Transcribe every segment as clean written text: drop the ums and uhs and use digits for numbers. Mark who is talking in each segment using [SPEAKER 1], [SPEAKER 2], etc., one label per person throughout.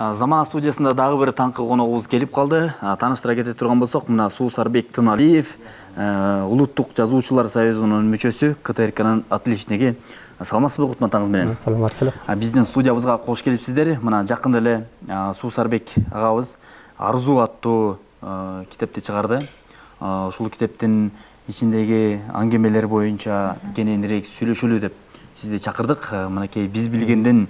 [SPEAKER 1] Замана студиясында дагы бир таңкы коногубуз келип калды. Тааныштыра кете турган болсок, мына Суусарбек Тыналиев, Улуттук жазуучулар союзунун мүчөсү, КТРКнын отличниги. Саламатсызбы Кутман таңыз менен?
[SPEAKER 2] Саламатчылык.
[SPEAKER 1] Биздин студиябызга кош келипсиздер. Мына жакында эле Суусарбек агабыз Арзуу аттуу китепти чыгарды. Ушул китептин ичиндеги аңгемелер боюнча кененирээк сүйлөшөлү деп сизди чакырдык. Мынакей биз билгенден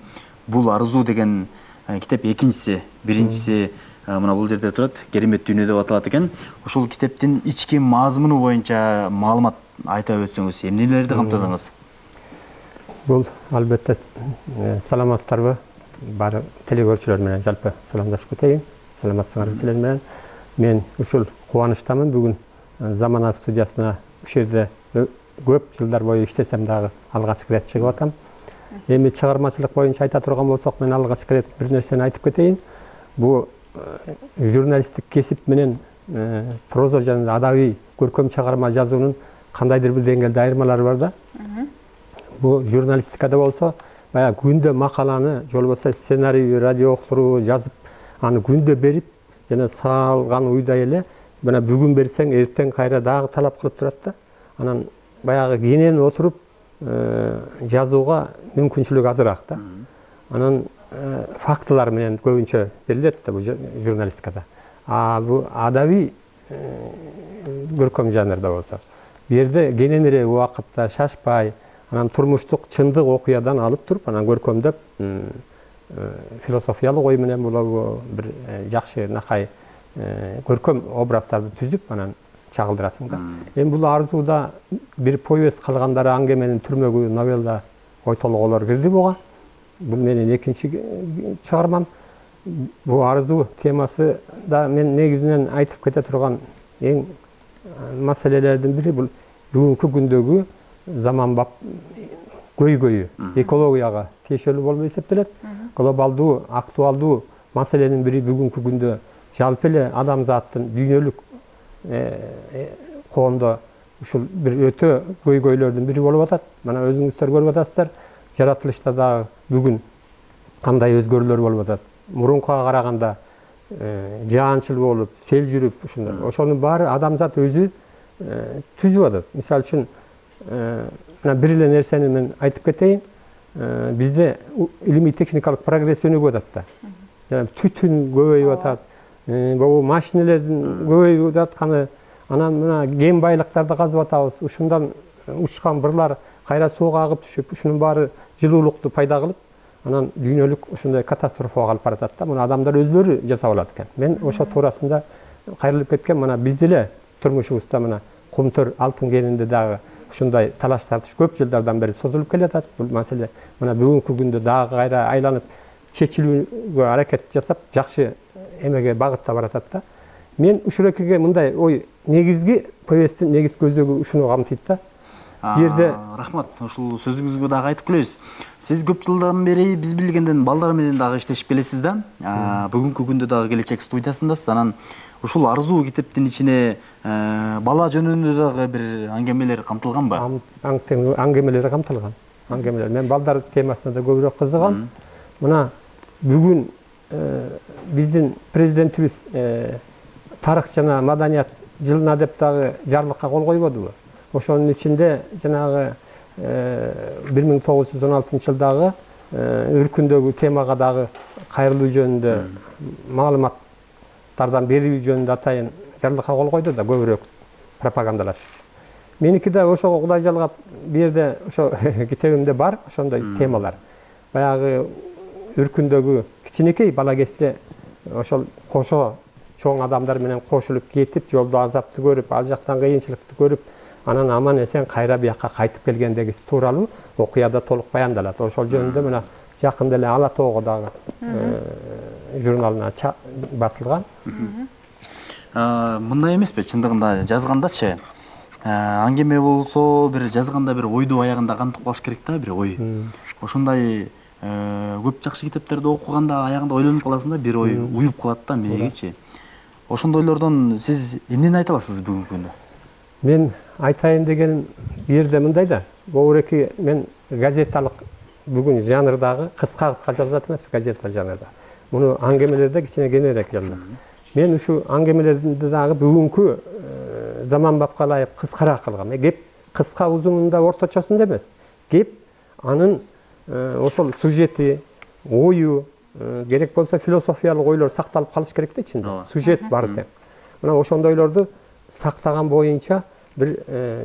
[SPEAKER 1] бул Арзуу деген китеп экинчиси, биринчиси мына бул жерде турат, Керемет дүйнө деп аталат экен. Ушул китептин ички мазмуну боюнча маалымат айта өтсөңүз, эмнелерди камтыдыңыз?
[SPEAKER 2] Бул албетте саламатсыздарбы? Баары телекөрүүчүлөр менен жалпы саламдашып кетейин. Саламатсыздарбы силер менен. Мен ушул кубанычтамын. Бүгүн Замана студиясына ушул жерде көп жылдар бою иштесем дагы алгачкы ирет чыгып атам. Эми чыгармачылык боюнча айта турган болсок, мен алгачкы ирет бир нерсени айтып кетейин. Бул журналисттик кесип менен проза жана адабий көркөм чыгарма жазуунун кандайдыр бир деңгээлде айырмалары бар да. Бул журналистикада болсо, баягы күндө макаланы, же болбосо сценарий, радио уктуруу жазып, аны күндө берип, жана салган уйдай эле, мына бүгүн берсең, эртең кайра дагы талап кылып турат да. Анан баягы кенен отуруп жазууга мүмкүнчүлүк азыраак да. Анан фактылар менен көбүнчө берилет да бул журналистикада. Бул адабий көркөм жанрда болсо, бу жерде кененирээк убакытта шашпай, анан турмуштук чындык окуядан алып туруп, анан көркөмдөп философиялык ой менен болобу, бир жакшы накай көркөм образдарды түзүп, анан чагылдырасың да. Эми бул Арзууда бир повесть калгандары аңгеменин түрмөгү новелла ой толгоолор кирди буга. Бул менин экинчи чыгармам. Бул Арзуу темасы да мен негизинен айтып кете турган эң маселелердин бири бул бүгүнкү күндөгү заманбап көйгөйү, экологияга тиешелүү болуп эсептелет. Глобалдуу, актуалдуу маселенин бири бүгүнкү күндө жалпы эле адамзаттын дүйнөлүк коомдо ушул бир өтө көйгөйлөрдүн бири болуп атат. Мына өзүңүздөр көрүп атасыздар, жаратылышта дагы бүгүн кандай өзгөрүүлөр болуп атат. Мурункуга караганда жаанчыл болуп, сел жүрүп, ушундай. Ошонун баары адамзат өзү түзүп атат. Мисалы үчүн мына бир эле нерсени мен айтып кетейин. Бизде илимий техникалык прогресс өнүгүп атат да. Түтүн көбөйүп атат. Бул машинелердин көбөйүп атканы, анан мына кен байлыктарды казып атабыз. Ушундан учкан бырлар кайра сууга агып түшүп, ушунун баары жылуулукту пайда кылып, анан дүйнөлүк ушундай катастрофага алып баратат да. Муну адамдар өзлөрү жасап алат экен. Мен ошо туурасында кайрылып кеткен, мына бизде эле турмушубузда мына кумтөр алтын кенинде дагы ушундай талаш тартыш көп жылдардан бери созулуп келатат. Бул маселе мына бүгүнкү күндө дагы кайра айланып чечилүүгө аракет жасап, жакшы эмеге багытта баратат да. Мен ушул экиге мындай ой, негизги повесттин негизги көзөгү ушуну камтыйт да. Бу жерде
[SPEAKER 1] рахмат, ушул сөзүңүзгө дагы айтып келебиз. Сиз көп жылдан бери биз билгенден балдар менен дагы иштешип келесиз да. Бүгүнкү күндө дагы Келечек студиясындасыз. Анан ушул Арзуу китептин ичине бала жөнүндө дагы бир аңгемелер камтылганбы?
[SPEAKER 2] Аңгемелер камтылган. Аңгемелер. Мен балдар темасына да көбүрөөк кызыгам. Мына бүгүн биздин президентибиз тарых жана маданият жылына деп дагы жарлыкка кол койбодубу? Ошонун ичинде жанагы 1916 жылдагы өркүндөгү темага дагы кайрылуу жөнүндө маалыматтардан берүү жөнүндө атайын жарлыкка кол койду да, көбүрөөк пропагандалаш үчүн. Меники да ошого Кудай жалгап, бу жерде ошо китебимде бар ошондой темалар. Баягы өркүндөгү кичинекей бала кезде ошол кошо чоң адамдар менен кошулуп кетип, жолдо азапты көрүп, ал жактан кыйынчылыкты көрүп, анан аман эсен кайра бияка кайтып келгендеги тууралуу окуяда толук баяндалат. Ошол жөнүндө мына жакында эле Ала тоого дагы журналына басылган.
[SPEAKER 1] Мындай эмеспи, чындыгында жазгандачы аңгеме болсо, бир жазганда бир ойду аягында кантып калыш керек да, бир ой. Ошондой көп жакшы китептерди окуганда аягында ойлонуп каласың да, бир ой уюп калат да мээгечи. Ошондойлордон сиз эмнени айта аласыз бүгүнкү күндө?
[SPEAKER 2] Мен айтайын дегеним бу жерде мындай да. Богуреки мен газеталык бүгүн жанрдагы кыска жазып жатам эмес, газета жанрда. муну аңгемелерде кичине кеңирээк жазылат. Мен ушу аңгемелерди дагы бүгүнкү заманбапка ылайык кыскараак кылгам. Кеп кыска узунунда орточосунда эмес. Кеп анын ошол сюжети, ою, керек болсо философиялык ойлор сакталып калыш керек да ичинде. Сюжет бар тең. Мына ошондойлорду сактаган боюнча бир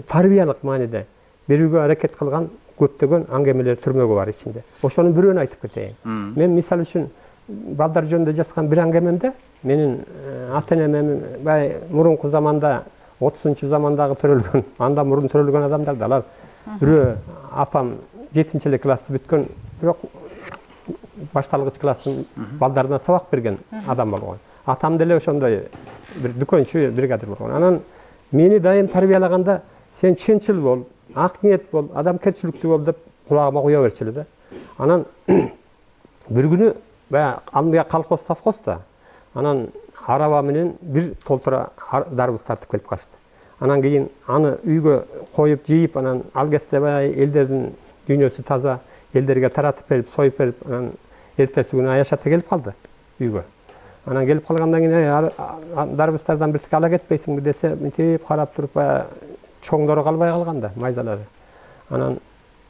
[SPEAKER 2] тарбиялык мааниде берүүгө аракет кылган көптөгөн аңгемелер түрмөгү бар ичинде. Ошонун бирөөнү айтып кетейин. Мен мисалы үчүн балдар жөнүндө жазган бир аңгемемде менин ата-энем бай мурунку заманда 30-замандагы төрөлгөн, андан мурун төрөлгөн адамдар алар бирөө апам 7-элек классты бүткөн, бирок башталгыч класстын балдарына сабак берген адам болгон. Атам деле ошондой бир дүкөнчү бригадир болгон. Анан мени дайым тарбиялаганда сен чынчыл бол, ак ниет бол, адамкерчиликтүү бол деп кулагыма куя берчү эле да. Анан бир күнү баягы анда колхоз совхозда анан араба менен бир толтура дарбыз тартып келип калышты. Анан кийин аны үйгө коюп жыйып, анан ал кезде баягы элдердин дүйнөсү таза, элдерге таратып берип, союп берип, анан эртеси күнү Аяш ата келип калды үйгө. Анан келип калгандан кийин дарбыздардан биртике ала кетпейсиңби десе, мынтип карап туруп, баягы чоңдору калбай калган да, майдалары. Анан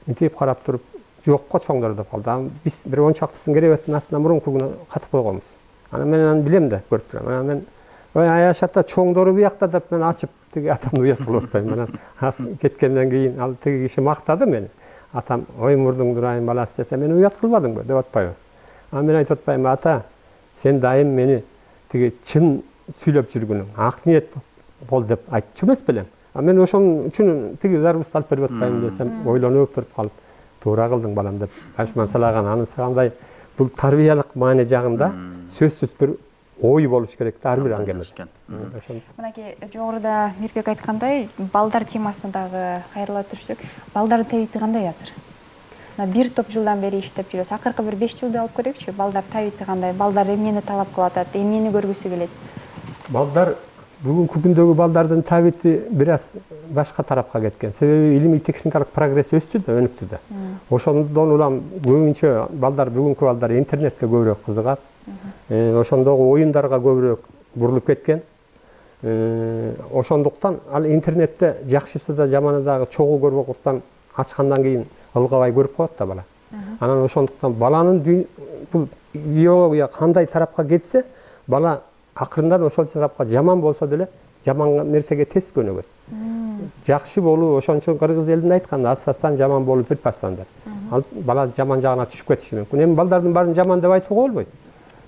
[SPEAKER 2] мынтип карап туруп, жокко чоңдору деп калды. Биз бир 10 чактысын керебеттин астына мурунку күнү катып койгонбуз. Анан мен аны билем да, көрүп турам. Анан мен ой Аяш ата чоңдору биякта деп мен ачып тиги атамды уят кылып атпайм. Анан кеткенден кийин ал тиги киши мактады мени. Атам ой мурдуң дурайын баласы десе, мен уят кылбадыңбы деп атпайбы. Анан мен айтып атпайм, ата сен дайым мени тиги чын сүйлөп жүргүнүң, ак ниет бол деп айтчу эмес белең. Мен ошон үчүн тиги дарбызды алып берип атпайм десем, ойлонуп туруп калып, туура кылдың балам деп ашман салаган. Анысы кандай бул тарбиялык маани жагында сөзсүз бир ой болуш керек да ар бир аңгемеде.
[SPEAKER 3] Мынакей жогоруда Мирбек айткандай, балдар темасына дагы кайрыла түшсөк, балдардын табити кандай азыр? Бир топ жылдан бери иштеп жүрөсүз. Акыркы бир 5 жылды алып көрөкчү. Балдар табити кандай? Балдар эмнени талап кылып атат? Эмнени көргүсү келет?
[SPEAKER 2] Балдар бүгүнкү күндөгү балдардын табити бир аз башка тарапка кеткен. Себеби илимий техникалык прогресс өстү да, өнүктү да. Ошондон улам көбүнчө балдар, бүгүнкү балдар интернетке көбүрөөк кызыгат. Ошондогу оюндарга көбүрөөк бурулуп кеткен. Ошондуктан ал интернетте жакшысы да жаманы дагы чогуу көрбөгөндүктан ачкандан кийин ылгабай көрүп коет да бала. Анан ошондуктан баланын бул биология кандай тарапка кетсе, бала акырындан ошол тарапка жаман болсо деле жаман нерсеге тез көнөгөт. Жакшы болуу ошон үчүн кыргыз элинде айткан, астастан жаман болуп бир пастан деп. Ал бала жаман жагына түшүп кетиши мүмкүн. Эми балдардын баарын жаман деп айтууга болбойт.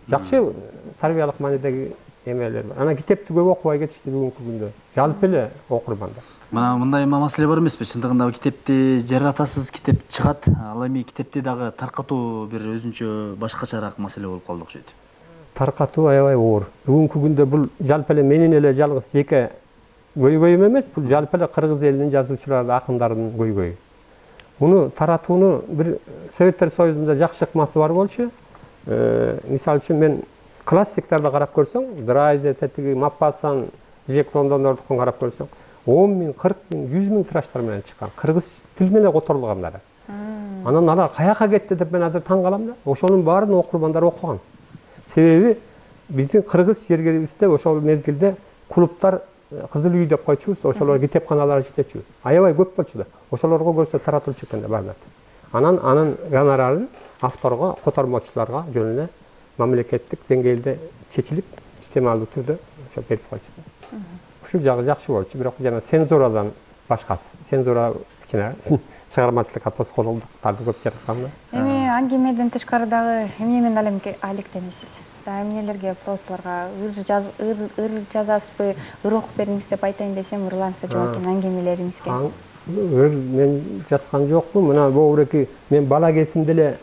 [SPEAKER 2] Жакшы тарбиялык маанидеги эмелер бар. Анан китепти көп окубай кетишти бүгүнкү күндө. Жалпы эле окурмандар.
[SPEAKER 1] Мына мындай маселе бар эмеспи? Чындыгында китепти жаратасыз, китеп чыгат. Ал эми китепти дагы таркатуу бир өзүнчө башкачараак маселе болуп калды окшойт.
[SPEAKER 2] Таркатуу аябай оор. Бүгүнкү күндө бул жалпы эле менин эле жалгыз жеке көйгөйүм эмес, бул жалпы эле кыргыз элинин жазуучулары, акындарынын көйгөйү. Муну таратууну бир Советтер Союзунда жакшы ыкмасы бар болчу. Мисалы үчүн мен классиктарды карап көрсөң, Драйзер, тиги Маппасан, Жек Лондондордукун карап көрсөң, 10 миң, 40 миң, 100 миң тираштар менен чыккан. Кыргыз тилине эле которулгандары. Анан алар каяка кетти деп мен азыр таң калам да. Ошонун баарын окурмандар окуган. Себеби биздин кыргыз жергерибизде ошол мезгилде клубтар, Кызыл үй деп койчубуз, ошолор китепканалар иштечү. Аябай көп болчу да. Ошолорго көрсө таратылчу экен да баардык. Анын гонорарын авторго, котормочуларга жөн эле мамлекеттик деңгээлде чечилип, системалдуу түрдө ошо берип койчу. Ушул жагы жакшы болчу, бирок жана цензурадан башкасы. Цензура кичине чыгармачылыкка тоскоолдуктарды көп жараткан да.
[SPEAKER 3] Эми аңгемеден тышкары дагы эмне менен алектенесиз? Эмнелерге прозаларга ыр жазасызбы, ыр окуп бериңиз деп айтайын десем, ырланса жок экен аңгемелериңизге.
[SPEAKER 2] Мен жазган жокмун. Мына бобуреки мен бала кезимде эле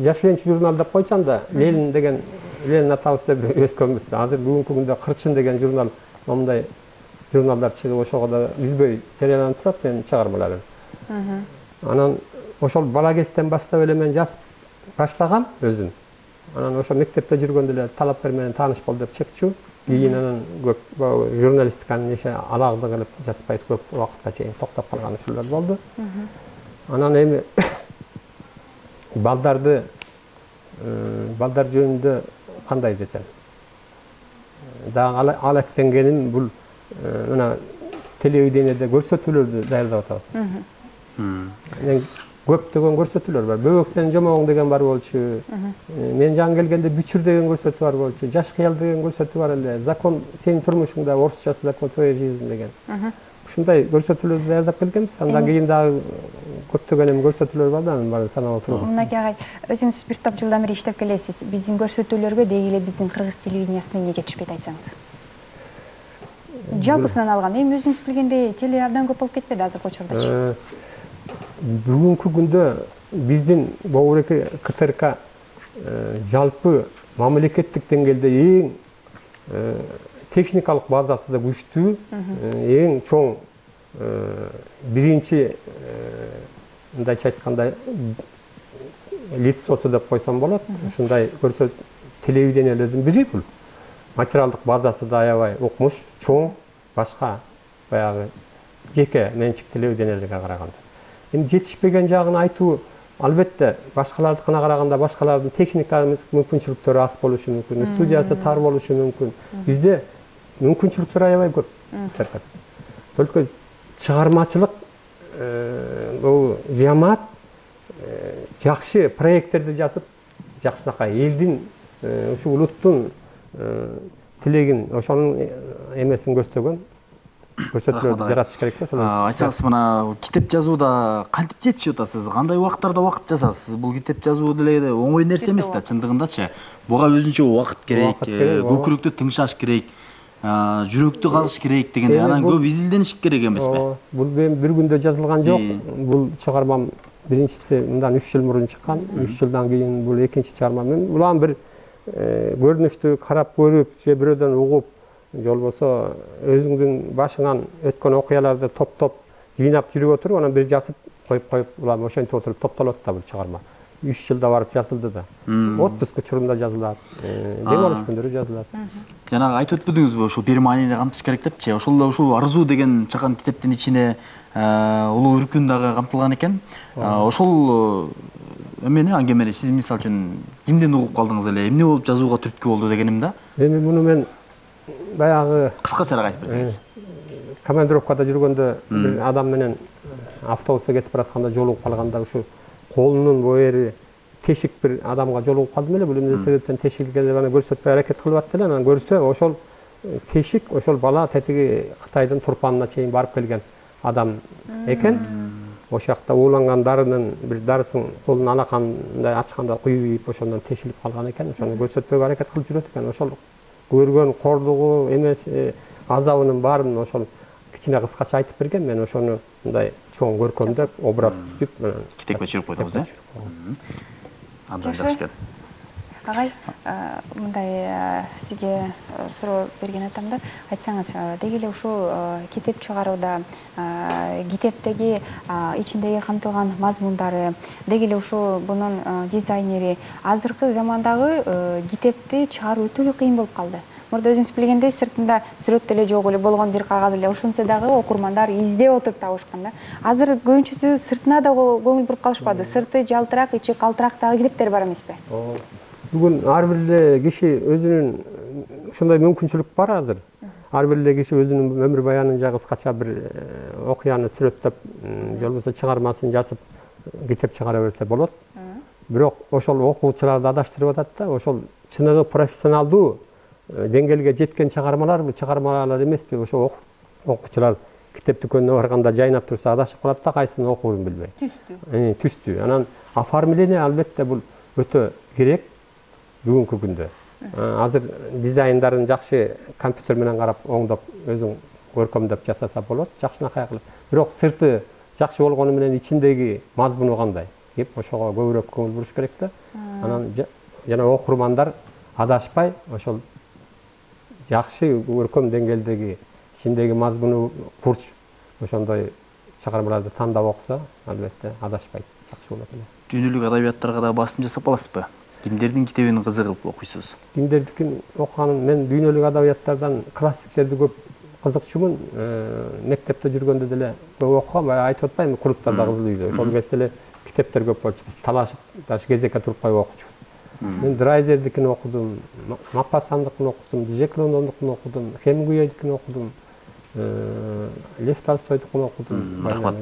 [SPEAKER 2] Жашленчи журнал деп койчам да, Ленин деген Ленин атабыз деп өскөнбүз. Азыр бүгүнкү күндө Кырчын деген журнал, мондай журналдар чыгып, ошого да үзбөй жарыяланып турат менин чыгармаларым. Анан ошол бала кезден баштап эле мен жазып баштагам өзүм. Анан ошо мектепте жүргөндө эле талапкер менен тааныш бол деп чыкчу. Кийин анан көп журналистиканын неше алагды кылып жазбайт, көп убакытка чейин токтоп калган ушулар болду. Анан эми балдарды балдар жөнүндө кандай десем, дагы алектенгеним бул мына телевидениеде көрсөтүүлөрдү даярдап атабыз. Көптөгөн көрсөтүүлөр бар. Бөбөк сенин жомогуң деген бар болчу. Мен жаңы келгенде бүчүр деген көрсөтүү бар болчу. Жаш кыял деген көрсөтүү бар эле. Закон сенин турмушуңда, орусчасы закон твоей жизни деген. Ушундай көрсөтүүлөрдү даярдап келгенбиз. Андан кийин дагы көптөгөн көрсөтүүлөр бар да, анын баарын санап отурбайм.
[SPEAKER 3] Мынакей агай, өзүңүз бир топ жылдан бери иштеп келесиз. Биздин көрсөтүүлөргө деги эле биздин кыргыз телевидениясына эмне жетишпейт айтсаңыз? Жалпысынан алганда, эми өзүңүз билгендей, теле абдан көп болуп кетпеди азыркы учурдачы?
[SPEAKER 2] Бүгүнкү күндө биздин Бобуреки КТРК жалпы мамлекеттик деңгээлде эң техникалык базасы да күчтүү, эң чоң биринчи мындайча айтканда лицосу деп койсом болот. Ушундай телевидениелердин бири бул. Материалдык базасы да аябай укмуш, чоң, башка баягы жеке менчик телевидениелерге караганда. Эми жетишпеген жагын айтуу албетте башкалардыкына караганда башкалардын техникалык мүмкүнчүлүктөрү аз болушу мүмкүн, студиясы тар болушу мүмкүн. Бизде мүмкүнчүлүктөр аябай көп. Только чыгармачылык бул жамаат жакшы проекттерди жазып, жакшынакай элдин ушу улуттун тилегин, ошонун эмесин көздөгөн көрсөтүүлөрдү жаратыш керек да.
[SPEAKER 1] Айтсаңыз, мына китеп жазууда кантип жетишип атасыз? Кандай убактарда убакыт жазасыз? Бул китеп жазуу деле оңой нерсе эмес да, чындыгындачы. Буга өзүнчө убакыт керек, көкүрөктү тыңшаш керек, жүрөктү казыш керек дегенде, анан көп изилдениш керек эмеспи?
[SPEAKER 2] Бул бир күндө жазылган жок. Бул чыгармам биринчиси мындан 3 жыл мурун чыккан. 3 жылдан кийин бул экинчи чыгармам. Мен булан бир көрүнүштү карап көрүп, же бирөөдөн угуп, же болбосо өзүңдүн башыңан өткөн окуяларды топтоп жыйнап жүрүп отуруп, анан бир жазып коюп улам ошентип отуруп топтолот да бул чыгарма. 3 жылда барып жазылды да. Отпуск учурунда жазылат, дем алыш күндөрү жазылат.
[SPEAKER 1] Жанагы айтып өтпөдүңүзбү, ошол бир маанини камтыш керек депчи. Ошол арзуу деген чыккан китептин ичине улуу үркүн дагы камтылган экен. Ошол эмени, аңгемени сиз мисалы үчүн кимден угуп калдыңыз эле? Эмне болуп жазууга түрткү болду дегеним да?
[SPEAKER 2] Эми муну мен баягы
[SPEAKER 1] кыскачараак айтып берсеңиз.
[SPEAKER 2] Командировкада жүргөндө бир адам менен автобуста кетип баратканда жолугуп калганда ушу колунун боери тешик бир адамга жолугуп калдым эле. Бул эмне себептен тешикке деп аны көрсөтпөй аракет кылып атты эле. Анан көрсө ошол тешик ошол бала тетиги Кытайдын Турпанына чейин барып келген адам экен. Ошол жакта ууланган дарынын бир дарысын колунун алакандай ачканда куюп, ошондон тешилип калган экен. Ошону көрсөтпөйгө аракет кылып жүрөт экен. Ошол көргөн кордугу эмес азабынын баарын ошол кичине кыскача айтып берген. Мен ошону мындай чоң көркөмдөп, образ түзүп
[SPEAKER 1] китепке чыгып койдуңуз, э? Абдан жакшы экен.
[SPEAKER 3] Агай, мындай сизге суроо берген атам да, айтсаңыз, деги эле ушул китеп чыгарууда китептеги ичиндеги камтылган мазмундары, деги эле ушул бунун дизайнери азыркы замандагы китепти чыгаруу өтө эле кыйын болуп калды. Мурда өзүңүз билгендей, сыртында сүрөт деле жок эле, болгон бир кагаз эле, ошентсе дагы окурмандар издеп отуруп табышкан да. Азыр көбүнчөсү сыртына да көңүл буруп калышпады. Сырты жалтырак, ичи калтырактагы китептер бар эмеспи?
[SPEAKER 2] Бүгүн ар бир эле киши өзүнүн ушундай мүмкүнчүлүк бар азыр. Ар бир эле киши өзүнүн өмүр баянын жагы кыскача бир окуяны сүрөттөп, же болбосо чыгармасын жазып, китеп чыгара берсе болот. Бирок ошол окуучуларды адаштырып атат да, ошол чыныгы профессионалдуу деңгээлге жеткен чыгармалар бул чыгармалар эмеспи? Ошо окуучулар китеп дүкөнүнө барганда жайнап турса адашып калат да, кайсысын окуурун билбей. Түстүү. Анан оформление албетте бул өтө керек бүгүнкү күндө. Азыр дизайндарын жакшы компьютер менен карап, оңдоп, өзүң көркөмдөп жасаса болот, жакшынакай кылып. Бирок сырты жакшы болгону менен ичиндеги мазмуну кандай? Деп ошого көбүрөөк көңүл буруш керек да. Анан жана окурмандар адашпай ошол жакшы көркөм деңгээлдеги ичиндеги мазмуну курч ошондой чыгармаларды тандап окуса, албетте адашпайт, жакшы болот эле.
[SPEAKER 1] Дүйнөлүк адабияттарга да басым жасап аласызбы? Кимдердин китебин кызыгып окуйсуз?
[SPEAKER 2] Кимдердикин окуганым, мен дүйнөлүк адабияттардан классиктерди көп кызыкчумун. Мектепте жүргөндө деле көп окугам, айтып атпаймынбы, клубтарда Кызыл үйдө. Ошол кезде эле китептер көп болчу. Биз талашып, даже кезекке туруп коюп окучубуз. Мен Драйзердикini окудум, Мапассандыкын окудум, Жек Лондондукун окудум, Хемингуэйдикini окудум, Лев Толстойдукун окудум.
[SPEAKER 1] Рахмат.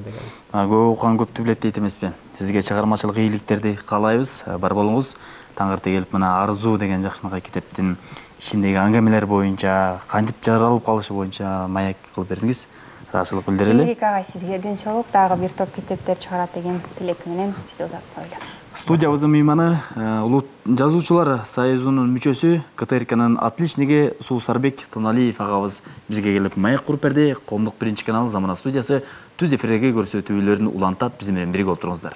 [SPEAKER 1] Көп окуган көптү билет дейт эмеспи? Сизге чыгармачылык ийгиликтерди каалайбыз. Бар болуңуз. Таң эрте келип мына Арзуу деген жакшынакай китептин ичиндеги аңгемелер боюнча, кантип жаралып калышы боюнча маек кылып бердиңиз. Ыраазычылык билдирели.
[SPEAKER 3] Эрик агай, сизге денчолук, дагы бир топ китептер чыгарат деген тилек менен сизди узатып коелу.
[SPEAKER 1] Студиябыздын мейманы Улут жазуучулар союзунун мүчөсү, КТРКнын отличниги Суусарбек Тыналиев агабыз бизге келип маек куруп берди. Коомдук биринчи канал Замана студиясы түз эфирдеги көрсөтүүлөрүн улантат. Биз менен бирге отуруңуздар.